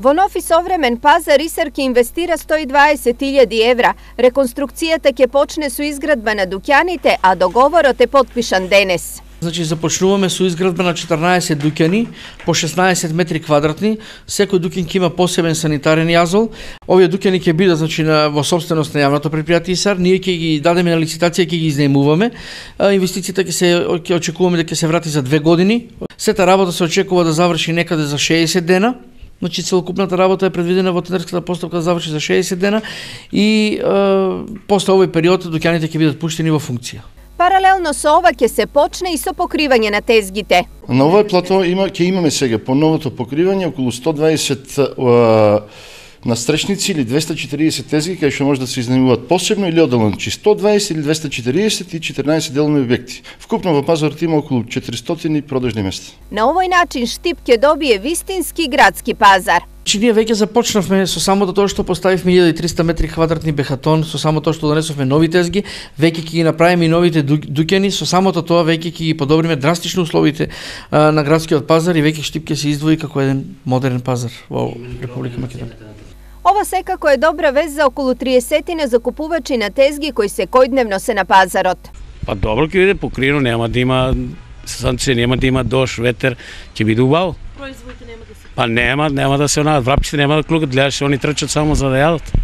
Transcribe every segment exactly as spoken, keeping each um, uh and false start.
Во нов и современ пазар Исар ќе инвестира сто и дваесет илјади евра. Реконструкцијата ќе почне со изградба на дуќаните, а договорот е потпишан денес. Значи започнуваме со изградба на четрнаесет дуќани по шеснаесет метри квадратни. Секој дуќан ќе има посебен санитарен јазол. Овие дуќани ќе бидат значи на во собственост на јавното предпријатие Исар. Ние ќе ги дадеме на лицитација, ќе ги изнаемуваме. Инвестицијата ќе се ќе очекуваме дека ќе се врати за две години. Сета работа се очекува да заврши некаде за шеесет дена. Значи целокупната работа е предвидена во тендерската постапка да заврши за шеесет дена и е, после овој период дуќаните ќе бидат пуштени во функција. Паралелно со ова ќе се почне и со покривање на тезгите. На овој плато има ќе имаме сега по новото покривање околу сто дваесет uh, настречници или двесте и четириесет тезги кај што може да се изнаемуваат посебно или одделно, значи сто дваесет или двесте и четириесет и четрнаесет делови објекти. Вкупно во пазарот има околу четиристотини продажни места. На овој начин Штип ќе добие вистински градски пазар. Значи ние веќе започнавме со самото тоа што поставивме илјада и триста метри квадратни бехатон, со само тоа што донесовме нови тезги, веќе ќе ги направиме и новите дуќани, со самото тоа веќе ќе ги подобриме драстично условите а, на градскиот пазар и веќе Штип ќе се издвои како еден модерен пазар во Република Македонија. Ова секако е добра вест за околу триесет закупувачи на тезги кои секојдневно се на пазарот. Па добро ќе биде покриено, нема да има санкција, нема да има дожд, ветер, ќе биде убаво. Производите нема да се. Па нема, нема да се онаат, врапчите нема да клукат, гледаш, они трчат само за да јадат.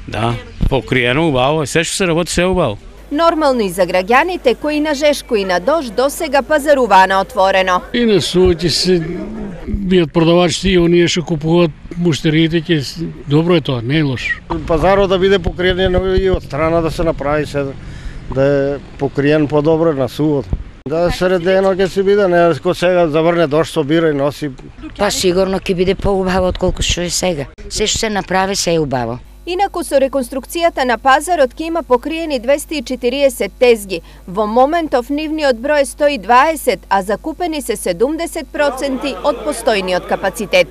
Да, покриено убаво, се што се работи се убаво. Нормално и за граѓаните кои на жешко и на дожд досега пазаруваа на отворено. И на сувоќе се бијат продавачите и оние што купуваат муштериите, ќе добро е тоа, не е лошо. Пазарот да биде покриен и од страна да се направи се да е покриен подобро на сувот. Да средено ќе се биде, не ко сега заврне дожд собира и носи. Па сигурно ќе биде поубаво отколку што е сега. Се што се направи се е убаво. Инаку со реконструкцијата на пазарот ќе има покриени двесте и четириесет тезги. Во моментов нивниот број е сто и дваесет, а закупени се седумдесет проценти од постојниот капацитет.